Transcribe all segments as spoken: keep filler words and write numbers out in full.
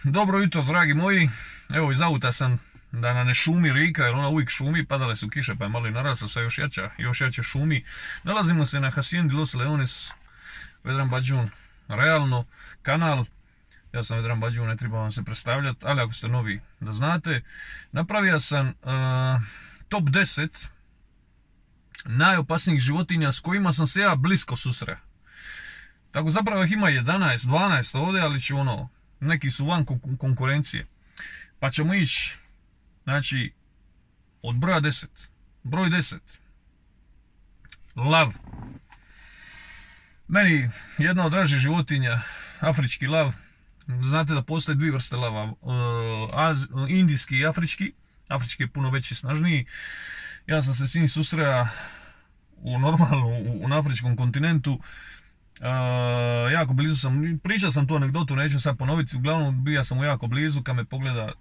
Dobro jutro, dragi moji. Evo, iz auta sam da na ne šumi Rika, jer ona uvijek šumi, padale su kiše pa je malo i narasla, sa još jača, još jače šumi. Nalazimo se na Hacienda de los Leones, Vedran Bađun, realno, kanal. Ja sam Vedran Bađun, ne treba vam se predstavljati, ali ako ste novi da znate. Napravio sam uh, top deset najopasnijih životinja s kojima sam se ja blisko susreo. Tako zapravo ih ima jedanaest, dvanaest ovdje, ali ću ono, neki su van konkurencije. Pa ćemo ići, znači, od broja deset. Broj deset. Lav. Meni jedna od dražih životinja, afrički lav. Znate da postoje dvije vrste lava, uh, az, indijski i afrički. Afrički je puno veći i snažniji. Ja sam se s njim susreo u normalno, u, na afričkom kontinentu. Uh, jako blizu sam, pričao sam tu anegdotu, neću sad ponoviti, uglavnom bija sam mu jako blizu, kad me pogleda,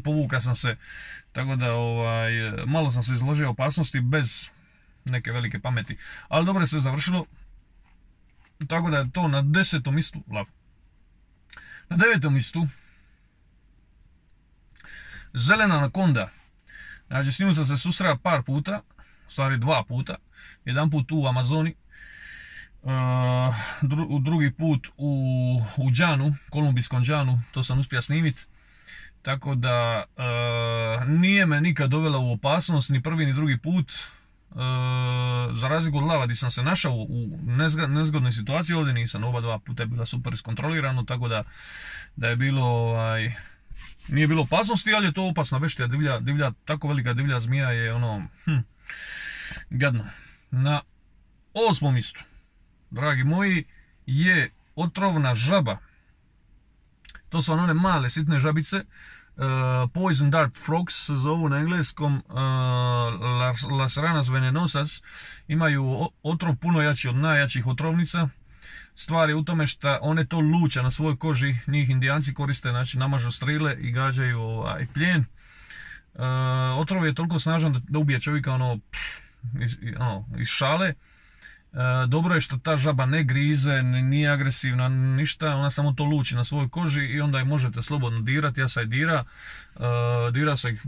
povuka sam se, tako da ovaj, malo sam se izložio opasnosti bez neke velike pameti, ali dobro je sve završilo, tako da je to na desetom mjestu lav. Na devetom mjestu zelena anakonda. Znači s njim sam se susreo par puta, u stvari dva puta, jedan put u Amazoni, Uh, dru, drugi put u, u Džanu, kolumbijskom Džanu, to sam uspio snimiti. Tako da uh, nije me nikad dovela u opasnost, ni prvi ni drugi put. Uh, za razliku od lava gdje sam se našao u nezgodnoj situaciji, ovdje nisam, oba dva puta je bila super iskontrolirano, tako da, da je bilo, ovaj, nije bilo opasnosti, ali je to opasna beštija, divlja, divlja, tako velika divlja zmija je ono, hm, gadno. Na osmom mjestu, dragi moji, je otrovna žaba. To su one male sitne žabice, uh, poison dart frogs se zovu na engleskom, uh, las, las ranas venenosas. Imaju otrov puno jači od najjačih otrovnica. Stvar je u tome što one to luče na svojoj koži, njih Indijanci koriste, znači namažu strile i gađaju ovaj, plijen. Uh, otrov je toliko snažan da, da ubije čovjeka ono, pff, iz, ono, iz šale. E, dobro je što ta žaba ne grize, nije agresivna, ništa, ona samo to luči na svojoj koži i onda je možete slobodno dirati. Ja sam je dira, e, dira sam ih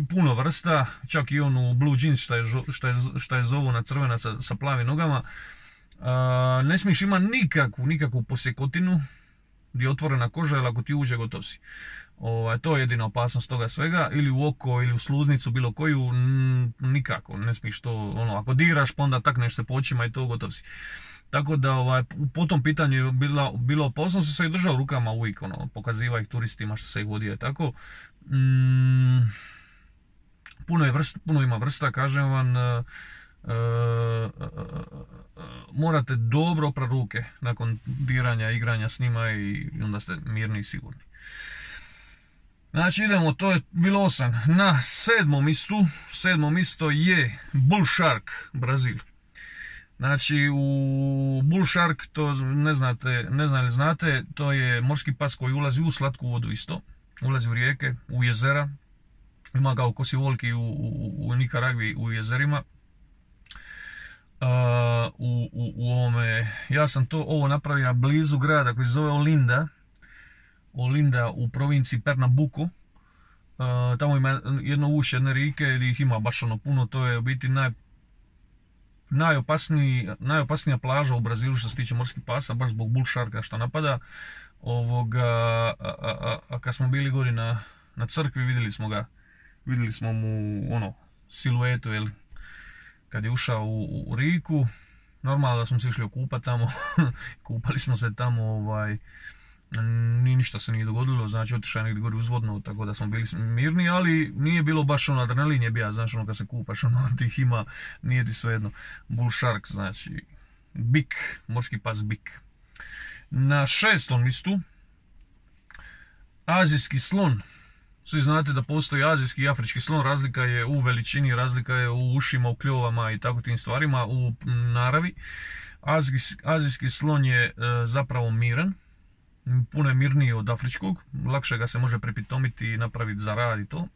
puno vrsta, čak i onu blue jeans što je, što je, što je zovu na crvena sa, sa plavim nogama. E, ne smiješ ima nikakvu, nikakvu posjekotinu gdje je otvorena koža, jer ako ti uđe gotov si. O, to je jedina opasnost toga svega, ili u oko ili u sluznicu bilo koju, n, nikako, ne smiješ to, ono, ako diraš pa onda takneš se po očima i to gotov si. Tako da ovaj, po tom pitanju je bila, bilo opasnost, se ih držao rukama uvijek, ono, pokaziva ih turistima što se ih vodio, tako. Mm, puno, je vrsta, puno ima vrsta, kažem vam, uh, uh, uh, uh, morate dobro oprat ruke nakon diranja, igranja s njima i onda ste mirni i sigurni. Znači idemo, to je bilo osam. Na sedmom mjestu, sedmo mjesto je Bull Shark, Brazil. Znači u Bull Shark, to ne znate, ne znam li znate, to je morski pas koji ulazi u slatku vodu isto. Ulazi u rijeke, u jezera. Ima ga u Kosivolki, u, u, u Nikaragvi, u jezerima. Uh, u, u, u ovome, ja sam to ovo napravio blizu grada koji se zove Olinda. Olinda u provinciji Pernambuco. Uh, tamo ima jedno ušće, jedne rike gdje ih ima baš ono puno. To je u biti naj, najopasniji, najopasnija plaža u Brazilu što se tiče morskih pasa, baš zbog Bull Sharka što napada. Ovoga, a, a, a kad smo bili gori na, na crkvi vidjeli smo ga, vidjeli smo mu ono siluetu, jel, kad je ušao u, u riku. Normalno da smo se išli okupati tamo, kupali smo se tamo, ovaj, ni ništa se nije dogodilo, znači otišao je negdje gori uzvodno, tako da smo bili mirni, ali nije bilo baš ono, adrenalin je bija, znači ono kad se kupaš, ono tih ima, nije ti svejedno. Bull Shark, znači bik, morski pas bik. Na šestom mjestu azijski slon. Svi znate da postoji azijski i afrički slon, razlika je u veličini, razlika je u ušima, u kljovama i tako tim stvarima, u naravi. Azijski, azijski slon je e, zapravo miran, puno je mirniji od afričkog, lakše ga se može prepitomiti i napraviti za rad i to.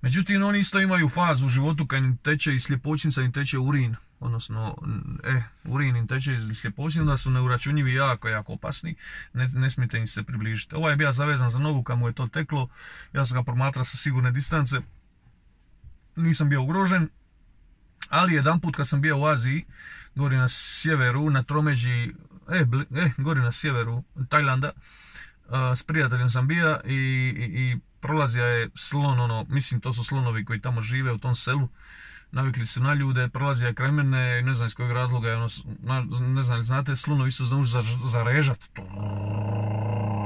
Međutim, oni isto imaju fazu u životu kad im teče iz sljepočnica, im teče urin, odnosno, e, urin im teče iz sljepočnica, da su neuračunjivi jako, jako opasni, ne, ne smijete im se približiti. Ovaj je bio zavezan za nogu kad mu je to teklo, ja sam ga promatrao sa sigurne distance, nisam bio ugrožen, ali jedan put kad sam bio u Aziji, gori na sjeveru, na tromeđi, e, bli, e gori na sjeveru Tajlanda, uh, s prijateljem sam bio i, i, i prolazio je slon, ono, mislim to su slonovi koji tamo žive u tom selu, navikli su na ljude, prolazio je kraj mene, ne znam iz kojeg razloga je ono, ne znam, znate, slonovi su znaju za, zarežat,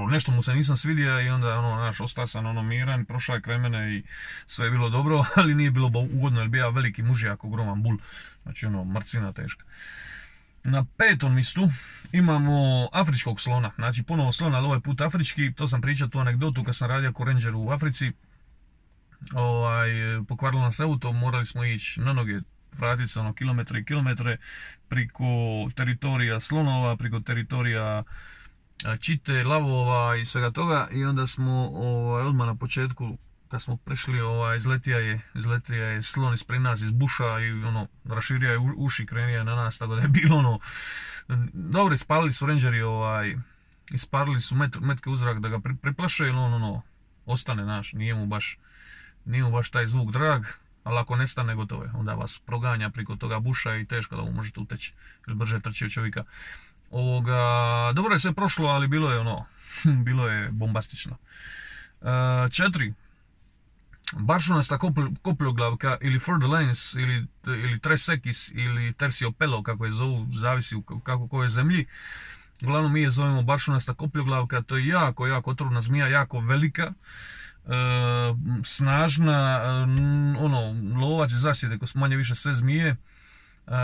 nešto mu se nisam svidio i onda, ono, naš, ostao sam, ono, miran, prošao je kraj mene i sve je bilo dobro, ali nije bilo ugodno, jer bio veliki mužjak, ogroman bul, znači, ono, mrcina teška. Na petom mjestu imamo afričkog slona, znači ponovo slon, ali ovaj put afrički, to sam pričao tu anegdotu kad sam radio ko ranger u Africi, ovaj, pokvarilo nas auto, morali smo ići na noge, vratiti se ono kilometre i kilometre, priko teritorija slonova, priko teritorija čite, lavova i svega toga i onda smo ovaj, odmah na početku kad smo prišli, ovaj, izletija je, izletija je slon ispred nas iz buša i ono, raširio je uši, krenio je na nas, tako da je bilo ono, dobro, ispalili su rangeri, ovaj, isparili su met, metke u zrak da ga pri, priplaše ili ono, ono, ostane naš, nije mu baš, nije mu baš taj zvuk drag, ali ako nestane gotovo je, onda vas proganja priko toga buša i teško da mu možete uteći ili brže trči od čovjeka. Ovoga, dobro je sve prošlo, ali bilo je ono, bilo je bombastično. Uh, četiri. Baršunasta kopljoglavka ili Fleur de Lens ili, ili Tresekis ili Terciopelo, kako je zovu, zavisi u kako kojoj zemlji. Uglavnom mi je zovemo baršunasta kopljoglavka, to je jako, jako otrovna zmija, jako velika, e, snažna, e, ono, lovac i zasjede ko su manje više sve zmije. E,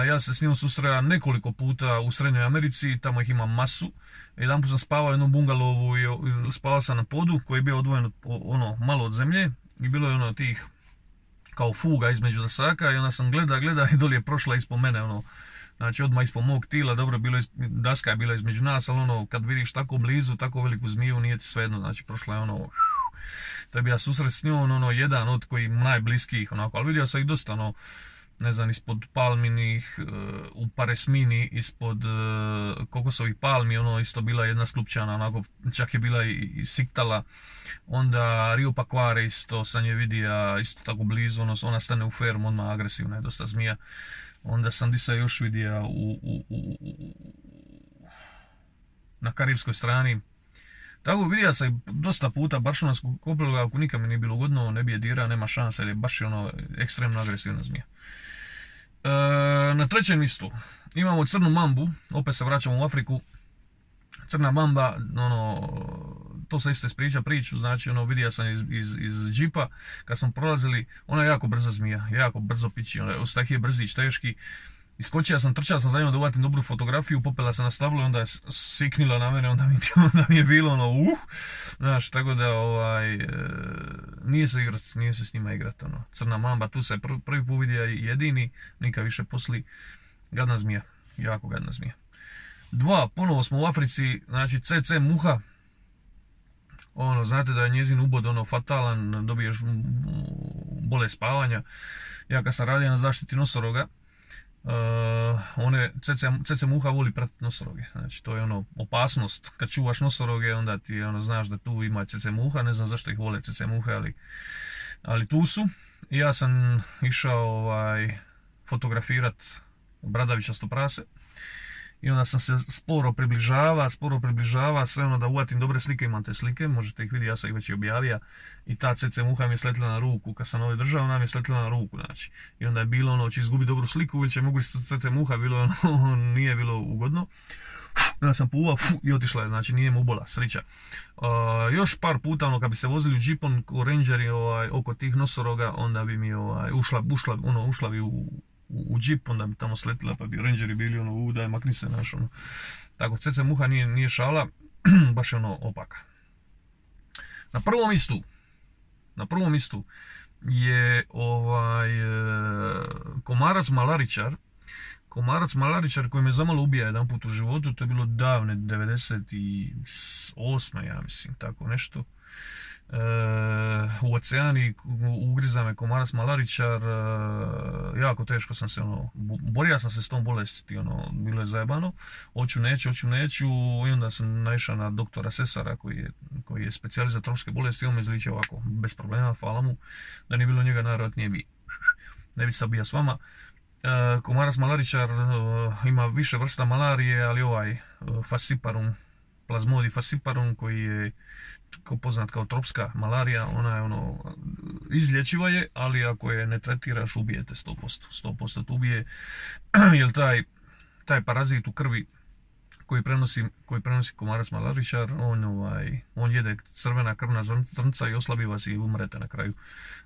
ja se s njom susreo nekoliko puta u Srednjoj Americi, tamo ih ima masu. Jedan put sam spavao u jednom bungalovu i spavao sam na podu koji je bio odvojen od, ono, malo od zemlje. I bilo je ono tih kao fuga između dasaka i onda sam gleda, gleda i dolje je prošla ispod mene, ono, znači odmah ispod mog tila, dobro, bilo je, daska je bila između nas, ali ono, kad vidiš tako blizu, tako veliku zmiju, nije ti svejedno, znači prošla je ono, to je bio susret s njom, ono, jedan od koji najbliskijih, onako, ali vidio sam ih dosta, ono, ne znam, ispod palminih, u Paresmini, ispod kokosovih palmi, ono, isto bila jedna sklupčana, onako, čak je bila i, i siktala. Onda Rio Paquare isto sam je vidio, isto tako blizu, ono, ona stane u fermu, odmah agresivna je dosta zmija. Onda sam di se još vidio u, u, u, u, na karibskoj strani. Tako vidio sam dosta puta baršunansku kopljoglavku, nikad mi nije bilo ugodno, ne bi je dira, nema šanse, jer je baš ono ekstremno agresivna zmija. E, na trećem mjestu imamo crnu mambu, opet se vraćamo u Afriku. Crna mamba, ono, to se isto ispriča priču, znači ono, vidio sam iz, iz, iz džipa, kad smo prolazili, ona je jako brza zmija, jako brzo pići, ona je ostakije brzić, teški. Iskočio sam, trčao sam za njom da uvatim dobru fotografiju, popela sam na stablo i onda je siknila na mene, onda mi, onda mi je bilo ono, uh, znaš, tako da, ovaj, e, nije se igrat, nije se s njima igrat, ono, crna mamba, tu se prvi, prvi put vidio jedini, nikad više posli, gadna zmija, jako gadna zmija. Dva, ponovo smo u Africi, znači ce ce muha, ono, znate da je njezin ubod, ono, fatalan, dobiješ bolest spavanja. Ja kad sam radio na zaštiti nosoroga, Uh, one cece, cece muha voli pratiti nosoroge, znači to je ono opasnost, kad čuvaš nosoroge onda ti ono, znaš da tu ima cece muha, ne znam zašto ih vole cece muhe, ali, ali tu su. I ja sam išao ovaj, fotografirat bradavičasto prase i onda sam se sporo približava, sporo približava, sve ono da uvatim dobre slike, imam te slike, možete ih vidjeti, ja sam ih već i objavio. I ta cece muha mi je sletila na ruku, kad sam ove držao, ona mi je sletila na ruku, znači. I onda je bilo ono, će izgubiti dobru sliku ili će mogu cece muha, bilo ono, nije bilo ugodno. Onda sam puvao i otišla je, znači nije mu ubola, srića. Uh, još par puta, ono, kad bi se vozili u džipon, ko rangeri, ovaj, oko tih nosoroga, onda bi mi ovaj, ušla, ušla, ono, ušla bi u, u, u džip, onda bi tamo sletila, pa bi rangeri bili ono, u, daj, makni se, naš, ono. Tako, cece muha nije, nije šala, baš je ono opaka. Na prvom mjestu, na prvom mjestu je ovaj komarac malaričar komarac malaričar koji me zamalo ubija jedan put u životu, to je bilo davne devedeset osme ja mislim, tako nešto. E, u oceani ugriza me komarac malaričar, e, jako teško sam se ono, borio sam se s tom bolesti, ono, bilo je zajebano, hoću neću, hoću neću, i onda sam naišao na doktora Sesara koji je, koji je specijalist za tropske bolesti, on me izličio ovako, bez problema, hvala mu, da nije bilo njega najvjerojatnije bi, ne bi sad bio s vama. E, komarac malaričar e, ima više vrsta malarije, ali ovaj e, Falciparum, Plasmodium falciparum koji je poznat kao tropska malarija, ona je ono, izlječiva je, ali ako je ne tretiraš ubijete sto posto, sto posto te ubije, jer taj, taj parazit u krvi koji prenosi, koji prenosi komarac malaričar, on, ovaj, on jede crvena krvna zrnca i oslabi vas i umrete na kraju.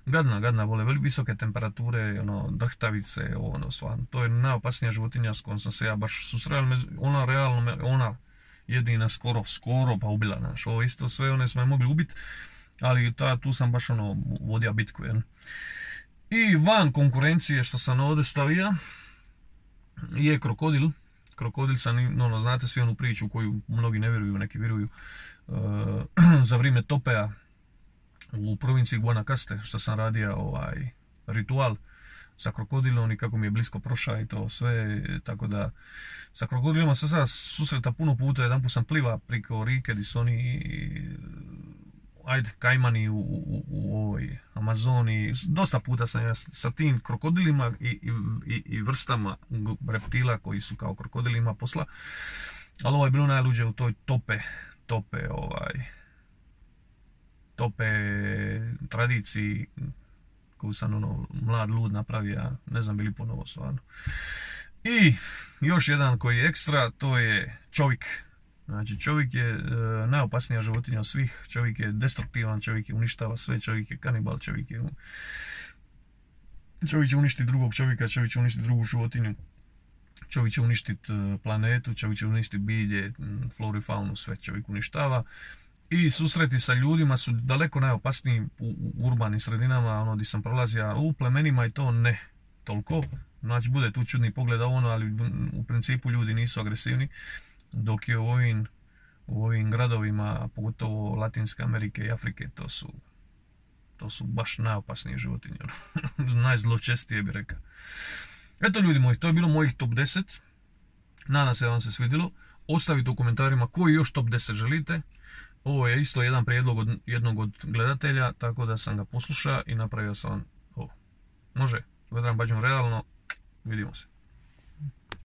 Gadna, gadna vole, visoke temperature, ono, drhtavice, ono, stvarno. To je najopasnija životinja s kojom sam se ja baš susreo, ona realno, ona jedina skoro, skoro pa ubila naš. Ovo isto sve one smo je mogli ubiti, ali ta, tu sam baš ono vodio bitku. Jel? I van konkurencije što sam ovdje stavio je krokodil. Krokodil sam, ono, znate svi onu priču koju mnogi ne vjeruju, neki vjeruju, uh, za vrijeme Topea u provinciji Guanacaste što sam radio ovaj ritual sa krokodilom i kako mi je blisko prošao i to sve, tako da sa krokodilima sam sada susreta puno puta, jedan put sam pliva priko rike gdje su oni, ajde, kajmani u, u, u ovoj Amazoni, dosta puta sam ja sa tim krokodilima i, i, i vrstama reptila koji su kao krokodilima posla, ali ovo je bilo najluđe u toj tope, tope, ovaj, tope tradiciji koju sam ono mlad lud napravio, ja ne znam bili ponovo stvarno. I još jedan koji je ekstra, to je čovjek. Znači čovjek je e, najopasnija životinja od svih, čovjek je destruktivan, čovjek je uništava sve, čovjek je kanibal, čovjek je čovjek će uništiti drugog čovjeka, čovjek će uništiti drugu životinju, čovjek će uništiti planetu, čovjek će uništiti bilje, floru i faunu, sve čovjek uništava. I susreti sa ljudima su daleko najopasniji u, u urbanim sredinama, ono gdje sam prolazio, u plemenima i to ne toliko. Znači bude tu čudni pogled ono, ali u principu ljudi nisu agresivni, dok je u ovim, u ovim gradovima, pogotovo Latinske Amerike i Afrike, to su, to su baš najopasnije životinje. Najzločestije bi rekao. Eto ljudi moji, to je bilo mojih top deset. Nadam se da vam se svidjelo. Ostavite u komentarima koji još top deset želite. Ovo je isto jedan prijedlog od jednog od gledatelja, tako da sam ga poslušao i napravio sam ovo. Može, Vedran Bađun realno, vidimo se.